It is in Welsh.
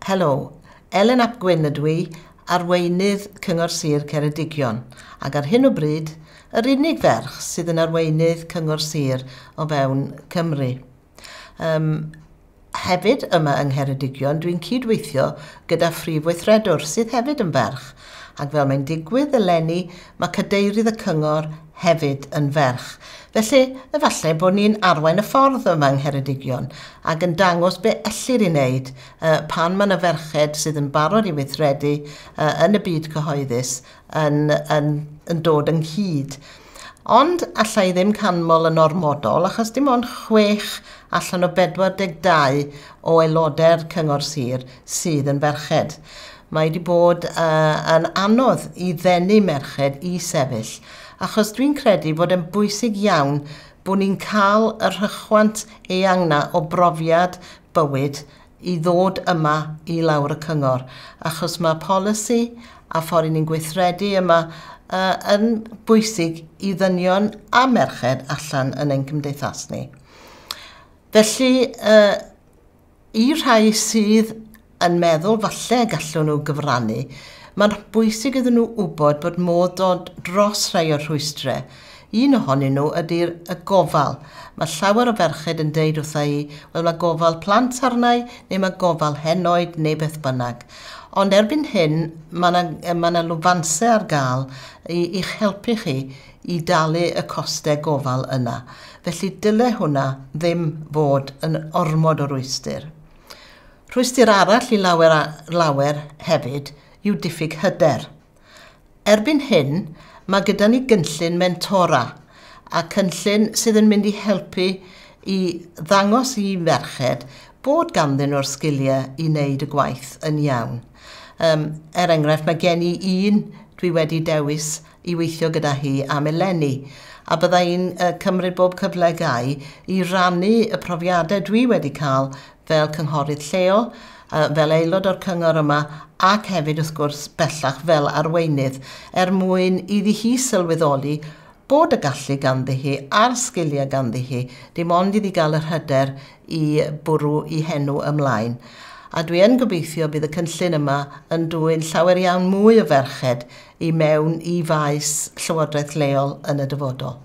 Helo, Elen ap Gwynn ydw i, arweinydd Cyngor Sir Ceredigion, ac ar hyn o bryd, yr unig ferch sydd yn arweinydd Cyngor Sir o fewn Cymru. Hefyd yma yng Ngheredigion, dwi'n cydweithio gyda phrif weithredwr sydd hefyd yn ferch, ac fel mae'n digwydd eleni, mae cadeirydd y cyngor hefyd yn ferch. Felly, efallai bod ni'n arwain y ffordd yma yng Ngheredigion ac yn dangos be ellir ei wneud pan mae yna ferched sydd yn barod i weithredu yn y byd cyhoeddus yn dod ynghyd. Ond alla i ddim canmol yn ormodol achos dim ond 6 allan o 42 o aelodau'r Cyngor Sir sydd yn ferched. Mae wedi bod yn anodd i ddenu merched i sefyll, achos dwi'n credu bod e'n bwysig iawn bod ni'n cael y rhychwant eang 'na o brofiad bywyd i ddod yma i lawr y cyngor, achos mae polisi a ffordd ni'n gweithredu yma yn bwysig i ddynion a merched allan yn ein cymdeithas ni. Felly, i rhai sydd yn meddwl falle gallwn nhw gyfrannu, mae'n bwysig iddyn nhw wybod bod modd dod dros rhai o'r rhwystrau. Un ohonyn nhw ydy'r y gofal. Mae llawer o ferched yn deud wrtha i, wel mae gofal plant arna i, neu mae gofal henoed, neu beth bynnag. Ond erbyn hyn, mae yna ma 'na lwfansau ar gael i'ch helpu chi i dalu y costau gofal yna. Felly dyle hwnna ddim fod yn ormod o rwystr. Rhwystr arall i lawer a lawer hefyd yw diffyg hyder. Erbyn hyn, mae gyda ni gynllun mentora, a cynllun sydd yn mynd i helpu i ddangos i ferched bod ganddyn nhw'r sgiliau i wneud y gwaith yn iawn. Er enghraifft, mae gen i un dwi wedi dewis i weithio gyda hi am eleni, a bydda i'n cymryd bob cyfle gai i rannu y profiadau dwi wedi cael fel cynghorydd lleol, fel aelod o'r cyngor yma, ac hefyd wrth gwrs bellach fel arweinydd, er mwyn iddi hi sylweddoli bod y gallu ganddi hi a'r sgiliau ganddi hi, dim ond iddi gael yr hyder i bwrw i henw ymlaen. A dwi yn gobeithio bydd y cynllun yma yn dwyn llawer iawn mwy o ferched i mewn i faes llywodraeth leol yn y dyfodol.